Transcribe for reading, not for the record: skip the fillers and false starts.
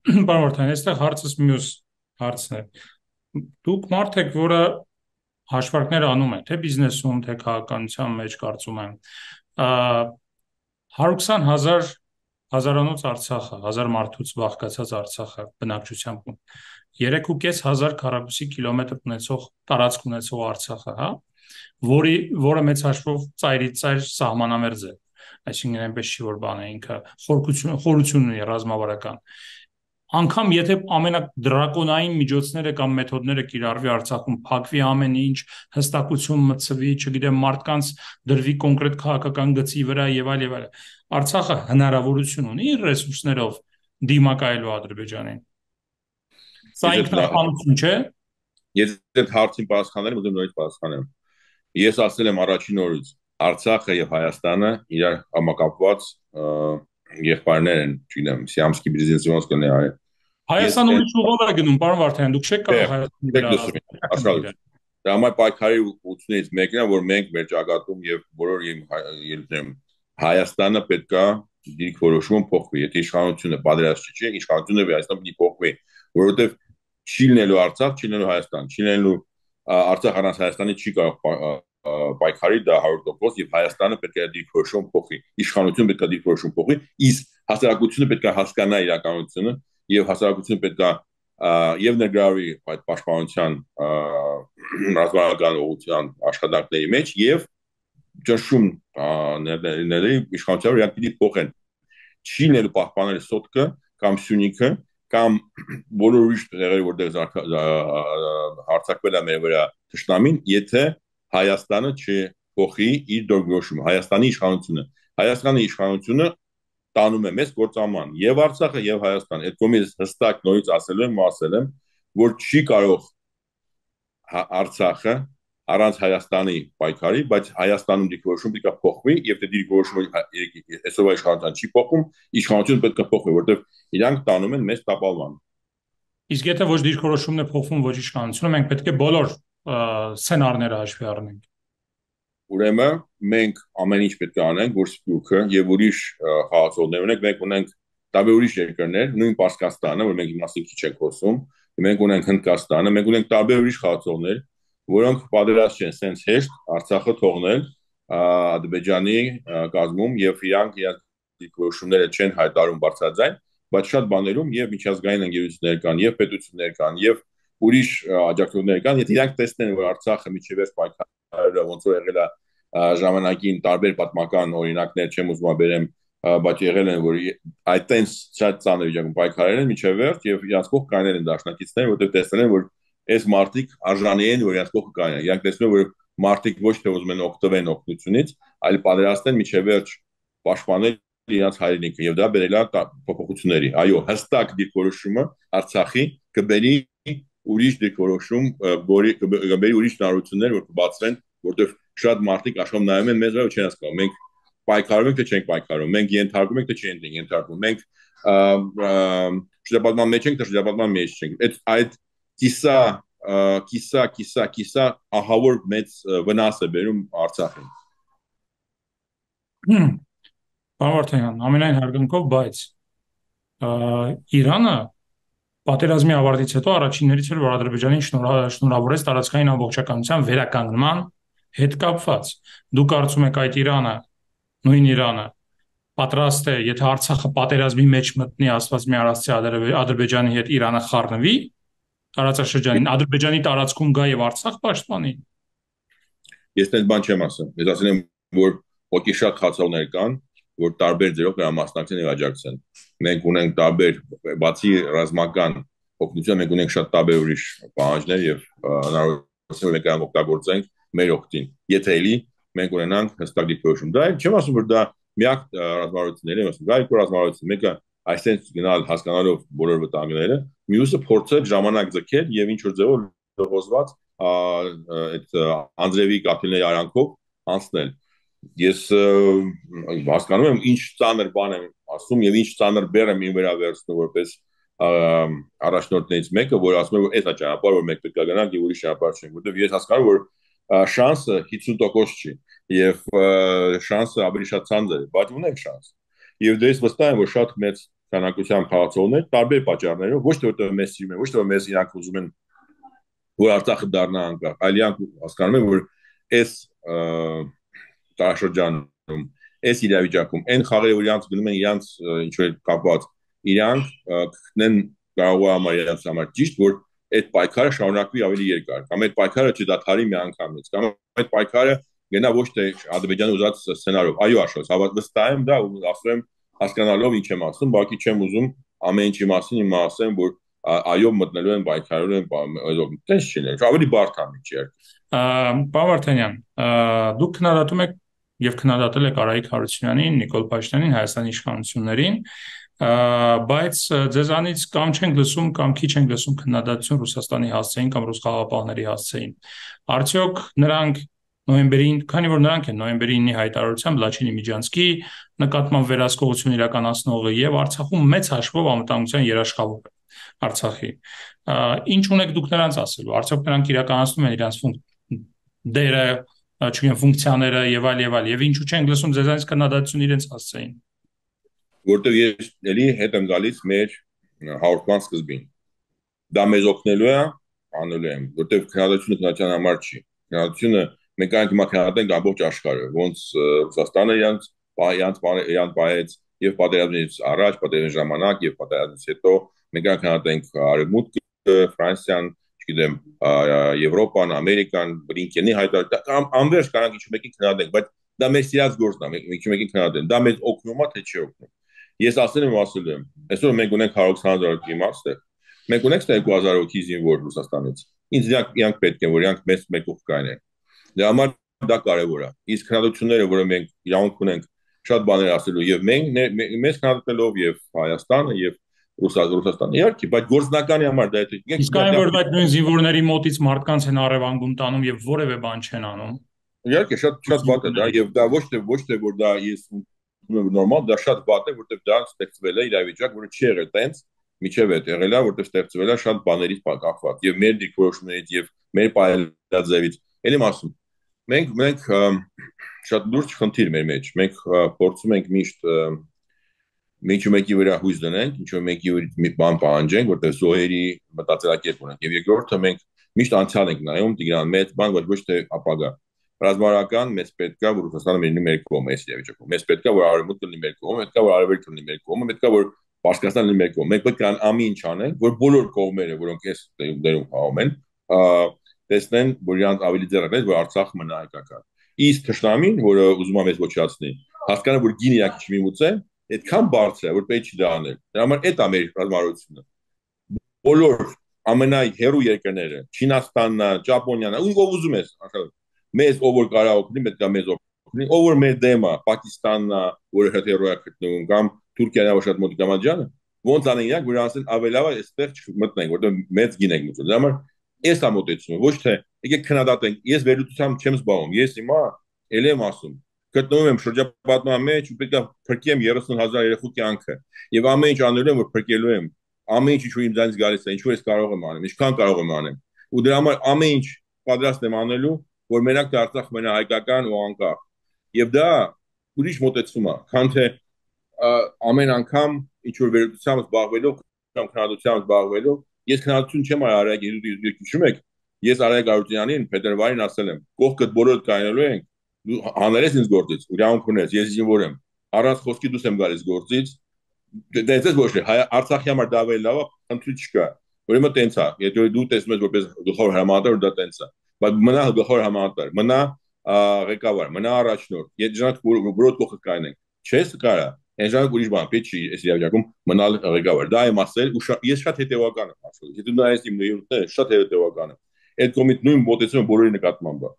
Պարոն Վարդան, այստեղ հարցս մյուս հարցն է։ Դուք մարդ եք, որը հաշվարկներ անում է, թե բիզնեսում, թե քաղաքականության մեջ, կարծում եմ։ 120,000 հազարանոց Արցախը, 1000 մարդուց բաղկացած Արցախը բնակչությամբ 3,500 քառակուսի կիլոմետր ունեցող տարածք ունեցող Արցախը, հա, որը մեծ հաշվով ծայրից ծայր սահմանամերձ է, այսինքն այնպես չի որ բան է ինքը խորություն ունի ռազմավարական, անգամ եթե ամենադրակոնային միջոցները կամ մեթոդները կիրառվի Արցախում, փակվի ամեն ինչ, հստակություն մտցվի, չգիտեմ, մարդկանց դրվի կոնկրետ քաղաքական գծի վրա եւ այլ եւ այլ։ Արցախը հնարավորություն ունի իր ռեսուրսներով դիմակայելու Ադրբեջանին։ Սա Ես ինքնապահություն չէ։ այդ հարցին պատասխանել եմ, ուզում նորից պատասխանեմ։ Ես ասել եմ առաջին օրից, Արցախը եւ Հայաստանը իրար համակապված եղբայրներ են, չգիտեմ, Սիամսկի բիզնեսոնց կնե այ։ Ես Հայաստանը այդ ուրիշ ուղով է գնում, պարոն Վարդան, դուք չեք կարող Հայաստանի տեք վրա լսում ազդել։ աշխարհից։ Դա համար պայքարի ուղղությունից մեկն է, որ մենք մեր ճակատում եւ բոլոր ելույթներում Հայաստանը պետքա դիրքորոշումը փոխվի։ Եթե իշխանությունը պատրաստ չի, իշխանությունը Հայաստան պիտի փոխվի, որովհետեւ չի լինելու Արցախ, չի լինելու Հայաստան, չի լինելու Արցախ առանց Հայաստանի չի կարող պայքարի դա 100% եւ Հայաստանը պետք է դիրքորոշում փոխի, իշխանությունը պետք է դիրքորոշում փոխի, իսկ հասարակությունը պետք է հասկանա իրականությունը եւ հասարակությունը պետք է եւ ներգրավի այդ պաշտպանության ռազմական ուղղության աշխատանքների մեջ եւ ճնշում ներդրել իշխանության իրանք պիտի փոխեն չի նել պահպանել սոտկը կամ Սյունիքը կամ բոլոր ուրիշ տեղերը որտեղ հարձակվել է մեր վրա թշնամին եթե Հայաստանը չփոխի իր դիրքորոշումը Հայաստանի իշխանությունը տանում է մեզ գործաման եւ Արցախը եւ Հայաստան այդ կողմից հստակ նորից ասել եմ որ չի կարող Արցախը առանց Հայաստանի պայքարի, բայց Հայաստանում դիրքորոշումը պետք է փոխվի եւ դե դիրքորոշումը այսօր իշխանության չի փոխում, իշխանությունը պետք է փոխվի, որովհետեւ իրանք տանում են մեզ տապալման։ Իսկ եթե ոչ դիրքորոշումն է փոխվում, ոչ իշխանությունը, մենք պետք է բոլոր սցենարները հաշվի առնենք։ Ուրեմն մենք ամեն ինչ պետք է անենք, որ Սփյուռքը եւ ուրիշ խաղացողներ ունենք, մենք ունենք տարբեր ուրիշ երկրներ, նույն Պարսկաստանը, որ մենք իմաստին քիչ ենք խոսում, մենք ունենք Հնդկաստանը, մենք ունենք տարբեր ուրիշ խաղացողներ, որոնք պատրաստ չեն սենց հեշտ Արցախը թողնել Ադրբեջանի կազմում եւ իրանք իրենց դիրքորոշումները չեն հայտարարում բարձրաձայն, բայց շատ բաներում եւ միջազգային ընկերություններ կան, եւ պետություններ կան, եւ ուրիշ աջակցություններ կան, եթե իրանք տեսնեն, որ Արցախը միջևերջ պայքարը ոնց որ եղել է ժամանակին տարբեր պատմական օրինակներ չեմ ուզում բերեմ, բայց եղել են որ այդտենց շատ ծանր վիճակում պայքարել են միջև վերջ եւ իրանք կողք կանել են դաշնակիցներ, որտեղ տեսնել են որ այս մարտիկ արժանի են որ իրանք կողք կանեն։ Իրանք տեսնում որ մարտիկ ոչ թե ուզում են օգտվեն օգնությունից, այլ պատրաստ են միջև վերջ պաշտպանել իրաց հայրենիքը եւ դա բերել է փոփոխությունների։ Այո, հստակ դիրքորոշումը Արցախի կբերի ուրիշ դիրքորոշում, կբերի ուրիշ հնարավորություններ, որ կբացվեն, որտեղ շատ մարդիկ աշխարհում նայում են մեզ ու չեն հասկանում։ Մենք պայքարում ենք թե չենք պայքարում, մենք ենթարկում ենք թե չենք ենթարկում, մենք շրջապատման մեջ ենք թե շրջապատման մեջ չենք։ Այդ կիսա ահավոր մեծ վնաս է բերում Արցախին։ Պարոն Վարդան, ամենայն հարգանքով, բայց Իրանը պատերազմի ավարտից հետո առաջիններից էր, որ Ադրբեջանին շնորհավորեց տարածքային ամբողջականության վերականգնման հետ կապված։ Դուք կարծում եք այդ Իրանը, նույն Իրանը պատրաստ է, եթե Արցախը պատերազմի մեջ մտնի, ասված մի արարծի Ադրբեջանի հետ Իրանը խառնվի տարածաշրջանին, Ադրբեջանի տարածքում գա եւ Արցախ պաշտպանի։ Ես այդպես բան չեմ ասում։ Ես ասել եմ, որ ոքի շատ խացողներ կան, որ տարբեր ձերով դրա մասնակցեն եւ աջակցեն։ Մենք ունենք տարբեր բացի ռազմական օգնություն, մենք ունենք շատ տարբեր ուրիշ պահանջներ եւ հնարավորություն մենք այն օգտագործենք մեր օգտին։ Եթե էլի մենք ունենանք հստակ դիրքորոշում։ Դա չեմ ասում, որ դա միակ ռազմավարություններ եմ ասում, դա երկու ռազմավարություն։ Մեկը այսպես գնալ հասկանալով բոլոր վտանգները, մյուսը փորձել ժամանակ ձգել եւ ինչ որ ձևով լողոզված այդ Անդրեևի կապիտալների արանքով անցնել։ Ես հասկանում եմ ինչ ծանր բան եմ ասում եւ ինչ ծանր բեռ եմ ինձ վրա վերցնում որպես առաջնորդներից մեկը, որ ասում է որ այդ է ճանապարհը, որ մենք պետք է գնանք եւ ուրիշ ճանապարհ չենք, որովհետեւ ես հասկանում որ շանսը 50% չի եւ շանսը ավելի շատ ցանց է, բայց ունենք շանս։ Եվ դες վստահ եմ որ շատ մեծ քանակությամբ քաղաքացիներ տարբեր պատճառներով, ոչ թե որտեղ մեզ սիրում են, ոչ թե որ մեզ իրանք ուզում են որ Արցախը դառնա անկախ, այլ իրանք հասկանում են, որ այս տարաշրջանում, այս իրավիճակում, այն խաղերը, որ իրանք գնում են իրանք ինչ-որ կապված, իրանք կգտնեն կարող է իրանք համար ճիշտ, որ այդ պայքարը շարունակվի ավելի երկար, կամ այդ պայքարը չդադարի մի անգամից, կամ այդ պայքարը գնա ոչ թե Ադրբեջանը ուզած սցենարով, այո աշխոս, վստահ եմ դա ու ասում եմ հասկանալով ինչ եմ ասում, բակի չեմ ուզում ամեն ինչի մասին իմ ասեմ, որ այո մտնելու են պայքարելու են տես չի ներ, ավելի բարդ ամիջ է։ Պարոն Վարդանյան, դուք քննադատում եք եւ քննադատել եք Արայիկ Հարությունյանին, Նիկոլ Փաշինյանին, Հայաստանի իշխանություններին, բայց ձեզանից կամ չենք լսում, կամ քիչ ենք լսում քննադատություն Ռուսաստանի հասցեին կամ ռուս խաղաղապահների հասցեին։ Արդյոք նրանք նոյեմբերին, քանի որ նրանք են նոյեմբերի 9-ի հայտարարությամբ Լաչինի Միջանցքի նկատմամբ վերահսկողություն իրականացնողը եւ Արցախում մեծ հաշվով անվտանգության երաշխավորը Արցախի։ Ինչ ունեք դուք նրանց ասելու։ Արդյոք նրանք իրականացնում են իրենց դերը, չգիտեմ, ֆունկցիաները եւ այլ եւ ինչու չենք լսում ձեզանից քննադատություն իրենց հասցեին։ Որտեւ ես էլի հետ եմ գալիս մեր հաղորդման սկզբին։ Դա մեզ օգնելու է, անելու եմ, որտեւ քննադատությունը քննադատության համար չի։ Քննադատությունը մենք այնք հիմա քննադատենք ամբողջ աշխարհը, ոնց Ռուսաստանը իրանց պահեց եւ պատերազմից առաջ, պատերազմի ժամանակ եւ պատերազմից հետո մենք քննադատենք Արևմուտքը, Ֆրանսիան, չգիտեմ, Եվրոպան, Ամերիկան, Բլինկենի հայտարարությունը, անվերջ կարող ինչ մեկին քննադատենք, բայց դա մեր սիրած գործն է, մենք մեկին քննադատենք, դա մեզ օգնում է թե չի օգնում։ Ես ասել եմ, այսօր մենք ունենք 120,000 իմաստը, մենք ունենք 2000 հոգի զինվոր Ռուսաստանից։ Ինձ իրանք պետք են, որ իրանք մեծ մեկով կանեն։ Դրա համար դա կարևոր է։ Իսկ քննադատությունները, որը մենք իրավունք ունենք շատ բաներ ասելու եւ մենք մեզ քննադատելով եւ Հայաստանը եւ Ռուսաստանը, իհարկե, բայց գործնականի համար դա է։ Իսկ այն որ այդ նույն զինվորների մոտից մարդկանց են առևանգում տանում եւ որևէ բան չեն անում։ Իհարկե, շատ վատ է դա եւ դա ոչ թե որ դա ես նորմալ, դա շատ վատ է, որտեղ դա ստեղծվել է իրավիճակ, որը չի եղել տենց, միջև է եղել է, որտեղ ստեղծվել է շատ բաներից կախված եւ մեր դիրքորոշումներից եւ մեր պայելաձևից։ Էլի ասում, մենք շատ լուրջ խնդիր մեր մեջ, մենք փորձում ենք միշտ ինչ մեկի վրա հույս դնենք, ինչ մեկի վրա մի բան պահանջենք, որտեղ զոհերի մտածելակերպ ունենք եւ երկրորդը մենք միշտ անցյալ ենք նայում, Տիգրան, մեծ բան, ոչ թե ապագա։ Ռազմավարական մեզ պետք է որ Ռուսաստանը լինի մեր կողմը, այս իրավիճակում։ Մեզ պետք է որ Արևմուտքը լինի մեր կողմը, պետք է որ Արևելքը լինի մեր կողմը, պետք է որ Պարսկաստանը լինի մեր կողմը։ Մենք պետք է ամեն ինչ անենք, որ բոլոր կողմերը, որոնք այս դերում խաղում են, տեսնեն, որ իրանք ավելի ձեռնարկեն, որ Արցախը մնա հայկական։ Իսկ թշնամին, որը ուզում է մեզ ոչնչացնի, հասկանա, որ գին իրանք չմիմուցեն, այդքան բարձր է, որ պետք չի դա անել։ Դրա համար այդ է մեր ռազմավարությունը։ Բոլոր ամենահեռու երկրները, Չինաստանն, Ճապոնիան, ով ուզում ես, մեզ ով որ կարող օգնի, պետք է մեզ օգնի, ով որ մեր դեմը, Պակիստանն, որը շատ հեռու է գտնվում, կամ Թուրքիան, որ շատ մոտ կամաջանը, ոնց անեն իրանք, որ ասեն ավելի լավ է այստեղ չմտնենք, որտեղ մեծ գին ենք մտնում։ Դրա համար այս է մոտեցումը, ոչ թե եկեք քննադատենք։ Ես վերլուծությամբ չեմ զբաղվում, ես հիմա ել եմ ասում, գտնվում եմ շրջապատման մեջ ու պետք է փրկեմ 30,000 երեխու կյանքը եւ ամեն ինչ անելու եմ որ փրկելու եմ ամեն ինչ իմ ձանից գալիս է ինչու ես կարող եմ անեմ ինչքան կարող եմ անեմ ու դրա համար ամեն ինչ պատրաստ եմ անելու որ մենակ Արցախ մնա հայկական ու անկախ եւ դա ուրիշ մոտեցում է քան թե ամեն անգամ ինչ որ վերլուծությամբ զբաղվելով կամ քննադատությամբ զբաղվելով ես քննադատություն չեմ արել հիշում եք ես Արայիկ Հարությունյանին փետրվարին ասել եմ կողքդ բոլորը կանելու ենք հանրես ինձ գործից, ուրախ ունես, ես զինվոր եմ, առանց խոսքի դուրս եմ գալիս գործից, դες ոչ է, Արցախի համար դա ավելի լավ է, խնդրի չկա, ուրեմն տենց է, եթե դու տեսնում ես որպես գլխավոր հրամանատար դա տենց է, բայց մնա գլխավոր հրամանատար, մնա ղեկավար, մնա առաջնորդ, եթե ժանք որոտ կողքը կանենք, չես կարա, այն ժանք ուրիշ բան, պետք չի այս իրավիճակում մնալ ղեկավար, դա եմ ասել ու ես շատ հետևական եմ ասել, եթե դու նայես իմ նույնները շատ հետևական եմ, այդ կողմից նույն մոտեցումը բոլորի նկատմամբ է